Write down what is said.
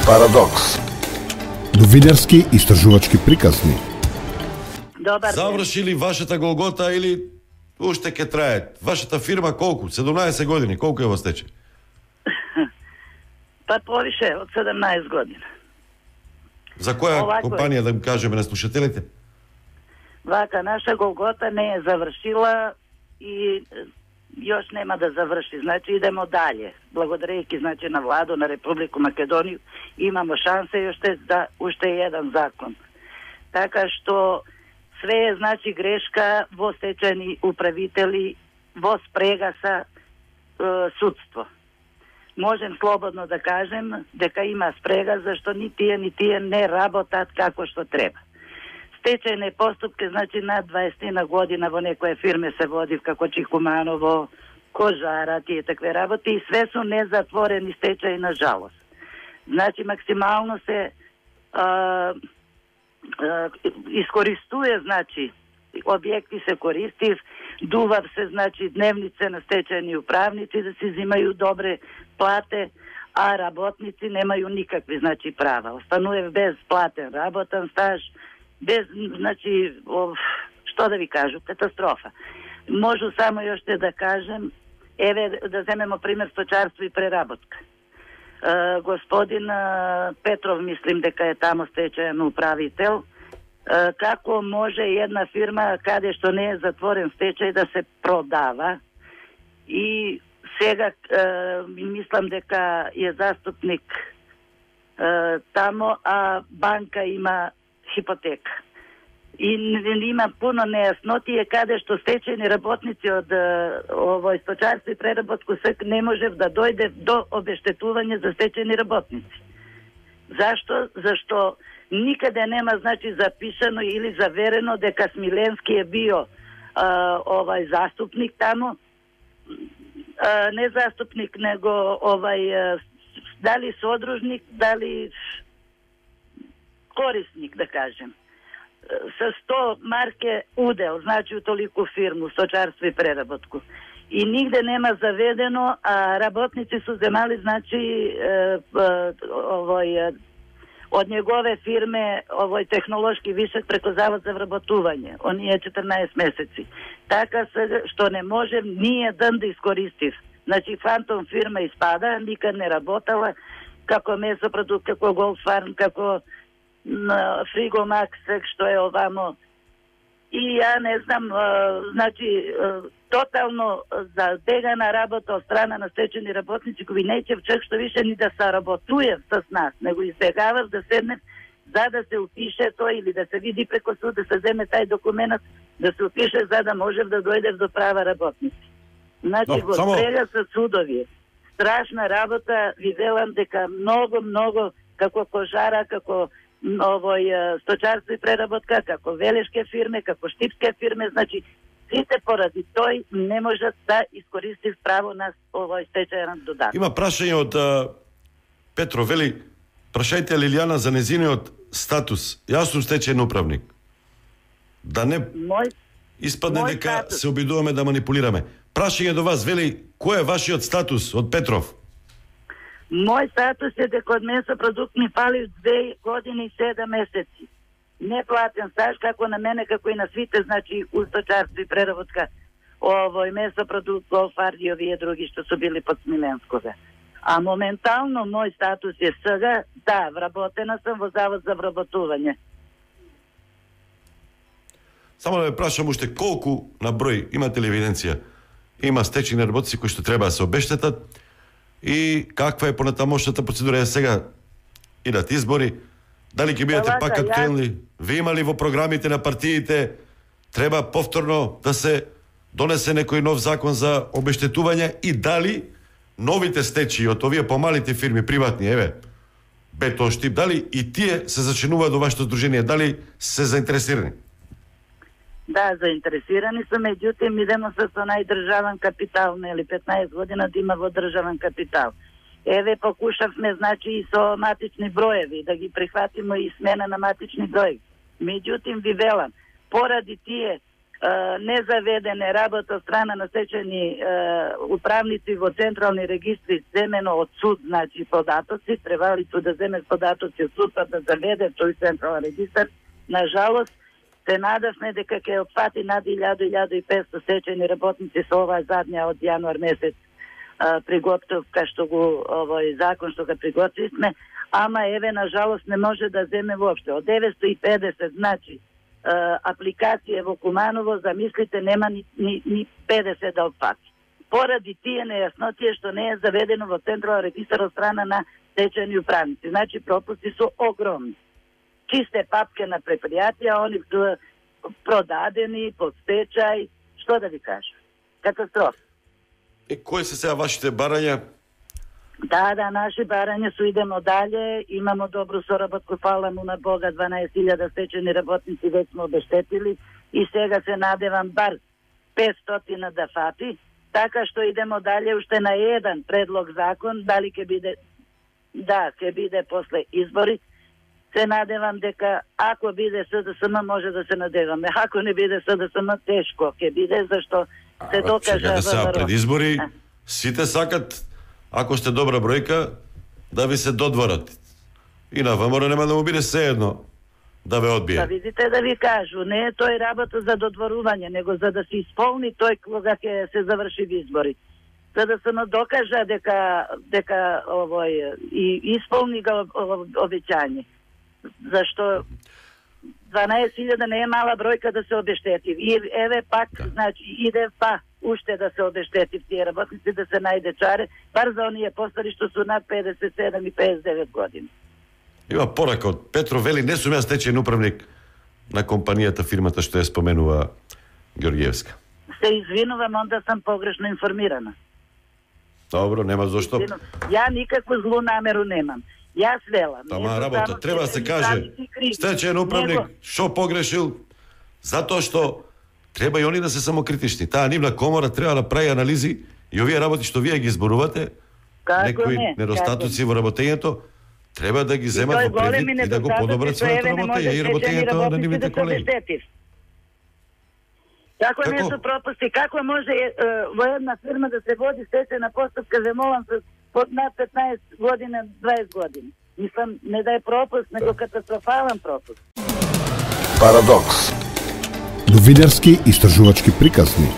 Парадокс. Новинарски истражувачки приказни. Добар ден. Заврши ли вашата голгота или уште ќе трае? Вашата фирма колку? 17 години, колку е во стечај? Па повише од 17 година. За која Овако компанија да им кажеме на слушателите? Вака, наша голгота не е завршила и još нема да заврши. Значи идемо далje. Благодарејќи значи на владу на Републику Македонiju имамо шансе јоште за уште еден закон. Така што све е значи грешка во стечајни управители во спрега са судство. Можем слободно да кажем дека има спрега зашто ни тие не работат како што треба. Стечајни поступки, значи над 20 година во некоја фирме се води како Чихуманово, Кожара, тие такве работи и све су незатворени стечаи на жалост. Значи максимално се искористуе, значи објекти се користив, дував се, значи дневнице на стечајни управници да си взимају добре плате, а работници немају никакви, значи права. Остануе без платен работен стаж, без, значи, што да ви кажу, катастрофа. Можу само јоште да кажем, еве да земемо пример сточарство и преработка. Господин Петров, мислим дека е тамо стечајен управител, како може една фирма каде што не е затворен стечај да се продава и сега мислам дека е заступник тамо, а банка има хипотека. И има пуно нејаснотија каде што стечајни работници од овој сточарство и преработку не можев да дојде до обештетување за стечајни работници. Зашто? Зашто никаде нема значи запишано или заверено дека Смиленски е био овај заступник тамо, не заступник, него овај дали содружник, дали корисник, да кажем. Со 100 марке удел, значи у толику фирму, сточарство и преработку. И нигде нема заведено, а работници су земали, значи, од негове фирме, овој технолошки вишек преко Завод за вработување. Оние 14 месеци. Така се, што не можем ние да искористив. Значи, фантом фирма испада, никад не работала, како месопродукт, како Голфарм, како Фригомакс, што е овамо. И ја не знам, значи, тотално забегана работа од страна на стечени работници, кои неќев чак што више ни да саработуе с нас, него избегавав да седне за да се упише тој или да се види преко суд, да се земе тај документ, да се упише за да можев да дојдев до права работници. Значи, го спрега со судови. Страшна работа, ви велам дека многу, како Кожара, како овој сточарство и преработка, како велешке фирме, како штипске фирме, значи сите поради тој не можат да искористив право на овој стечајен додаток. Има прашање од Петро, вели, прашајте Лилијана за незиниот статус. Јас сум стечајен управник. Да не испадне дека статус се обидуваме да манипулираме. Прашање до вас, вели, кој е вашиот статус од Петров? Мој статус е дека од месопродукт ми фали 2 години и 7 месеци. Неплатен стаж, како на мене, како и на свите, значи, у сточарство и преработка, овој месопродукт, Голфар и овие други што су били под Смиленскове. А моментално мој статус е сега, да, вработена сум во Завод за вработување. Само да ве прашам уште колку на број, имате ли евиденција? Има стечајни работници кои што треба да се обештетат и каква е понатамошната процедура? Сега идат избори, дали ќе бидете пак актуелни? Ви има ли во програмите на партиите треба повторно да се донесе некој нов закон за обештетување и дали новите стечаи од овие помалите фирми приватни, еве, Бетон Штип, дали и тие се зачинуваат до вашето здружение, дали се заинтересирани? Да, заинтересирани се, меѓутоа идемо со најдржавен капитал, нели 15 година да има во државен капитал. Еве покушавме, значи, и со матични броеви, да ги прихватиме и смена на матични броеви. Меѓутоа ви велам, поради тие незаведене работа од страна на стечајни управници во централни регистри земено од суд, значи податоци, требали су да земе податоци од суд, па да заведе тој централен регистар. На жалост, се надавме дека ќе опфати над 1000-1500 стечајни работници со оваа задња од јануар месец приготовка што го овој закон што го приготвивме, ама еве на жалост не може да земе воопште. Од 950, значи апликација во Куманово, замислите, нема ни 50 да опфати. Поради тие нејаснотија што не е заведено во централен регистар од страна на стечајни управници. Значи пропусти се огромни. Чисте папке на предпријатија, они продадени под стечај, што да ви кажам? Катастрофа. Кои се сега вашите барања? Да, наши барања су идемо дале, имамо добру соработку, фала му на Бога, 12.000 стечени работници веќе сме обештетили и сега се надевам бар 500 да фати, така што идемо дале уште на еден предлог закон, дали ќе биде, да, ќе биде после избори, се надевам дека ако биде СДСМ може да се надеваме, ако не биде СДСМ тешко ќе биде, зашто се докажа чекате сега пред избори, сите сакат, ако сте добра бројка, да ви се додворат. И на ВМРО нема да му биде сеедно да ве одбие. Да видите, да ви кажу, не е тој работа за додворување, него за да се исполни тој кога ќе се заврши избори. За да се докажа дека овој и исполни го обеќање. Зашто 12.000 не е мала бројка да се обештети. И еве пак, значи, иде па уште да се обештети тие работници, да се најде чаре, бар за оние постари што су над 57 и 59 години. Има порака од Петро, вели, не сум јас стечајен управник на компанијата, фирмата што ја споменува Георгиевска. Се извинувам, онда сам погрешно информирана. Добро, нема зошто. Ја никакvu злу намеру немам. Јас велам. Тама работа, треба да се каже, стечајен управник, шо погрешил, затоа што треба и они да се самокритични. Таа нивна комора треба да прави анализи и овие работи што вие ги зборувате, некои недостатоци во работењето, треба да ги земат во предвид и да го подобрат својата работа и работењето на нивните колеги. Како не се пропусти, како може во една фирма да се води стечајна постапка, земолам се под над 15 година, 20 години. Мислам, не да е пропуст, него катастрофален пропуст. Парадокс. Новинарски истражувачки приказни.